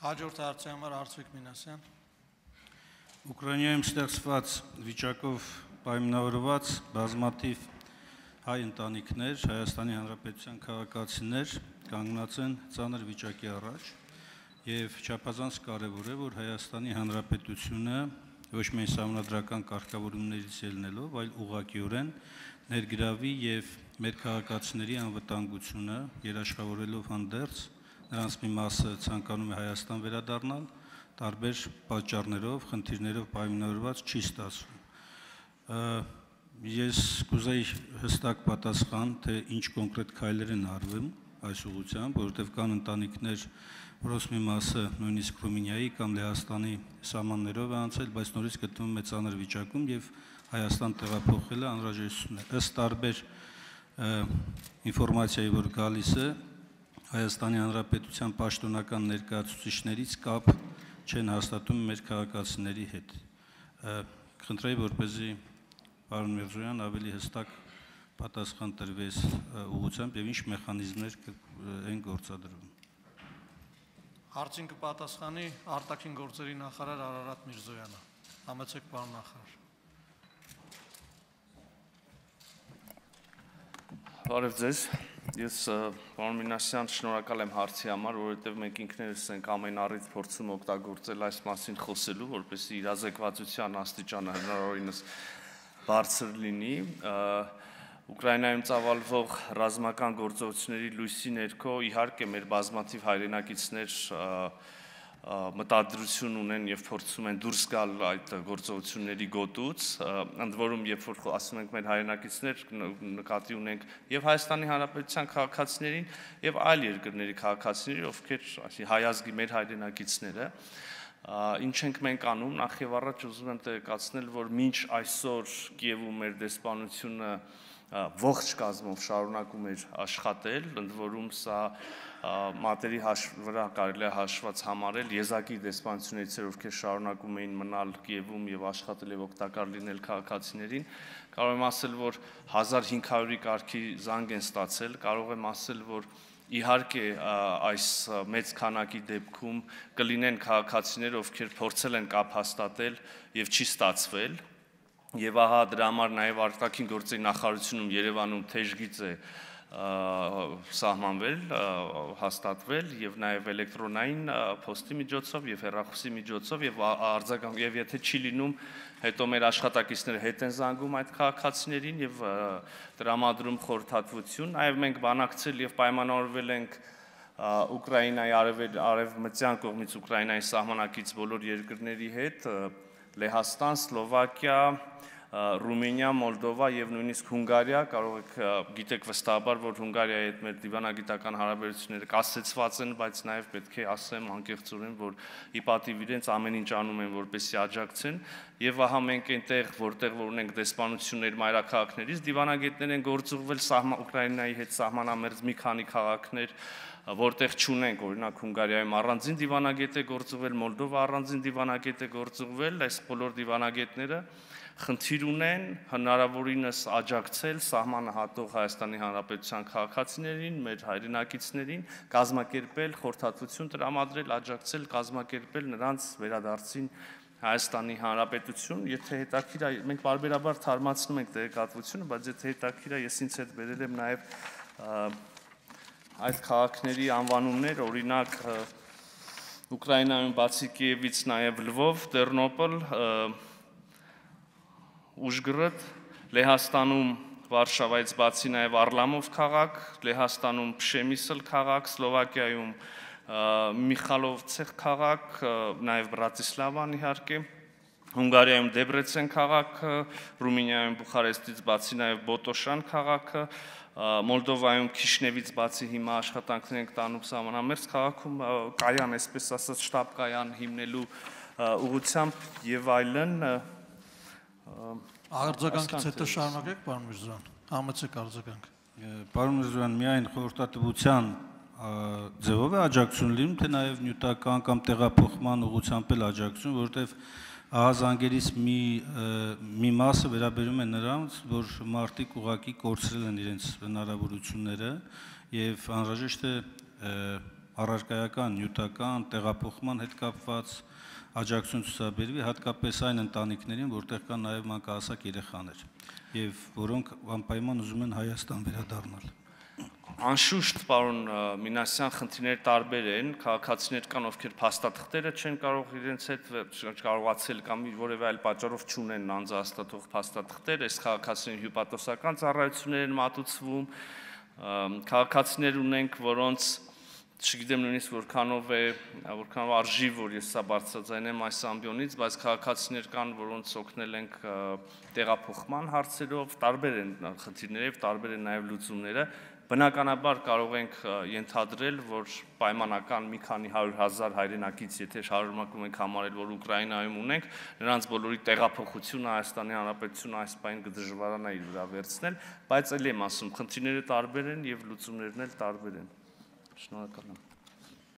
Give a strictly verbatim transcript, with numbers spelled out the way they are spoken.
Հաջորդ հարցի համար Արծվիկ Մինասյան։ Ուկրաինայում ստեղծված վիճակով պայմանավորված բազմաթիվ հայ ընտանիքներ, Հայաստանի Հանրապետության քաղաքացիներ կանգնած են ծանր վիճակի առաջ եւ չափազանց կարեւոր է, որ Հայաստանի Հանրապետությունը ոչ միայն սահմանադրական կարգավորումներից ելնելով, այլ ուղղակիորեն ներգրավի եւ մեր քաղաքացիների անվտանգությունը երաշխավորելով հանդերձ նրանց մի մասը ցանկանում է Հայաստան վերադառնալ, տարբեր պատճառներով, խնդիրներով պայմանավորված չի ստացվում։ Ես կուզեի հստակ պատասխան, թե ինչ կոնկրետ քայլեր են արվում այս ուղղությամբ, որովհետև կան ընտանիքներ, որոնց մի մասը նույնիսկ Ռումինիայի կամ Լեհաստանի սահմաններով է անցել, բայց նորից գտնվում է ծանր վիճակում եւ Հայաստան տեղափոխելը անհրաժեշտություն է։ Ըստ տարբեր ինֆորմացիայի, որ գալիս է, Հայաստանի Հանրապետության պաշտոնական ներկայացուցիչներից կապ չեն հաստատում մեր քաղաքացիների հետ։ Խնդրեի, որպեսզի պարոն Միրզոյան ավելի հստակ պատասխան տրվեց ուղղությամբ եւ ինչ մեխանիզմներ են գործադրվում։ Հարցին կպատասխանի արտաքին գործերի նախարար Արարատ Միրզոյանը։ Համեցեք, պարոն նախարար։ Բարև ձեզ։ Ես պարոն Մինասյան շնորհակալ եմ հարցի համար, որովհետև մենք ինքներս ենք ամեն առիթ փորձում օգտագործել այս մասին խոսելու, որպեսզի իրազեկվածության աստիճանը հնարավորինս բարձր լինի։ Ուկրաինայում ծավալվող ռազմական գործողությունների լույսի ներքո իհարկե մեր բազմաթիվ հայրենակիցներ մտադրություն ունեն եւ փորձում են դուրս գալ այդ գործողությունների գոտուց, ընդ որում երբ որ ասում ենք մեր հայրենակիցներ, նկատի ունենք եւ Հայաստանի Հանրապետության քաղաքացիներին եւ այլ երկրների քաղաքացիների, ովքեր ասի հայ ազգի մեր հայրենակիցները, ինչ ենք մենք անում, նախ եւ առաջ ուզում եմ տեղեկացնել, որ մինչ այսօր Կիևում մեր դեսպանությունը ողջ կազմով շարունակում էր աշխատել, ընդ որում սա մատերի վրա կարելի է հաշված համարել եզակի դեսպանություններից, ովքեր շարունակում էին մնալ Կիևում եւ աշխատել եւ օգտակար լինել քաղաքացիներին, կարող եմ ասել, որ հազար հինգ հարյուրի կարգի զանգ են ստացել, կարող եմ ասել, որ իհարկե այս մեծ քանակի դեպքում կլինեն քաղաքացիներ, ովքեր փորձել են կապ հաստատել եւ չի ստացվել, եւ ահա դրա համար նաեւ արտաքին գործերի նախարարությունում Երևանում թեժգիծ է սահմանվել, հաստատվել եւ նաեւ էլեկտրոնային փոստի միջոցով եւ հեռախոսի միջոցով եւ արձագանք եւ եթե չի լինում, հետո մեր աշխատակիցները հետ են զանգում այդ քաղաքացիներին եւ տրամադրում խորհրդատվություն, նաեւ մենք բանակցել եւ պայմանավորվել ենք Ուկրաինայի արևմտյան կողմից Ուկրաինայի սահմանակից բոլոր երկրների հետ, Լեհաստան, Սլովակիա, Ռումինիա, Մոլդովա եւ նույնիսկ Հունգարիա, կարող եք գիտեք վստահաբար, որ Հունգարիայի հետ մեր դիվանագիտական հարաբերությունները կասեցված են, բայց նաեւ պետք է ասեմ անկեղծորեն, որ ի պատիվ իրենց ամեն ինչ անում են, որպեսզի աջակցեն, եւ ահա մենք այնտեղ, որտեղ որ ունենք դեսպանություններ մայրաքաղաքներից, դիվանագետներ են գործուղվել Ուկրաինայի հետ սահմանամերձ մի քանի քաղաքներ, որտեղ չունենք, օրինակ Հունգարիայում առանձին դիվանագետ է գործուղվել, Մոլդովա առանձին դիվանագետ է գործուղվել, այս բոլոր դիվանագետները խնդիր ունեն հնարավորինս աջակցել սահմանը հատող Հայաստանի Հանրապետության քաղաքացիներին, մեր հայրենակիցներին, կազմակերպել խորհրդատվություն տրամադրել, աջակցել, կազմակերպել նրանց վերադարձին Հայաստանի Հանրապետություն, եթե հետաքրքիր է, մենք բարբերաբար թարմացնում ենք տեղեկատվությունը, բայց եթե հետաքրքիր է, ես ինձ հետ բերել եմ նաեւ այդ քաղաքների անվանումներ, օրինակ Ուկրաինայում բացի Կիևից նաեւ Լվով, Տերնոպոլ, Ուժգրոդ, Լեհաստանում Վարշավայից բացի նաեւ Արլամով քաղաք, Լեհաստանում Փշեմիսլ քաղաք, Սլովակիայում Միխալովցեխ քաղաք, նաեւ Բրատիսլավան իհարկե, Հունգարիայում Դեբրեցեն քաղաքը, Ռումինիայում Բուխարեստից բացի նաեւ Բոտոշան քաղաքը, Մոլդովայում Քիշնևից բացի հիմա աշխատանքներ ենք տանում սահմանամերձ քաղաքում կայան, այսպես ասած, շտաբ կայան հիմնելու ուղղությամբ եւ այլն։ Արձագանքից հետո շարունակեք, պարոն Միրզոյան, համեցեք արձագանք։ Պարոն Միրզոյան, միայն խորհրդատվության ձևով է աջակցություն լինում, թե նաեւ նյութական կամ տեղափոխման ուղղությամբ էլ աջակցություն, որովհետեւ ահազանգերից մի մի մասը վերաբերում է նրանց, որ մարդիկ ուղղակի կորցրել են իրենց հնարավորությունները եւ անհրաժեշտ է առարկայական, նյութական, տեղափոխման հետ կապված աջակցություն ցուցաբերվի հատկապես այն ընտանիքներին, որտեղ կան նաև մանկահասակ երեխաներ, եւ որոնք անպայման ուզում են Հայաստան վերադառնալ։ Անշուշտ, պարոն Մինասյան, խնդիրները տարբեր են, քաղաքացիներ կան, ովքեր փաստաթղթերը չեն կարող իրենց հետ կարողացել կամ որևէ այլ պատճառով չունեն անձահաստատող փաստաթղթեր, այս քաղաքացիներին հյուպատոսական ծառայություններ են մատուցվում, քաղաքացիներ ունենք, որոնց չգիտեմ նույնիսկ որքանով է, որքանով արժի, որ ես սա բարձրաձայնեմ այս ամբիոնից, բայց քաղաքացիներ կան, որոնց օգնել ենք տեղափոխման հարցերով, տարբեր են խնդիրները, տարբեր են նաև լուծումները։ Բնականաբար կարող ենք ենթադրել, որ պայմանական մի քանի հարյուր հազար հայրենակից, եթե շարունակում ենք համարել, որ Ուկրաինայում ունենք, նրանց բոլորի տեղափոխությունը Հայաստանի Հանրապետությունը այս պայն կդժվարանա իր վրա վերցնել, բայց ելի եմ ասում, խնդիրները տարբեր են եւ լուծումներն էլ տարբեր են։ Շնորհակալ եմ։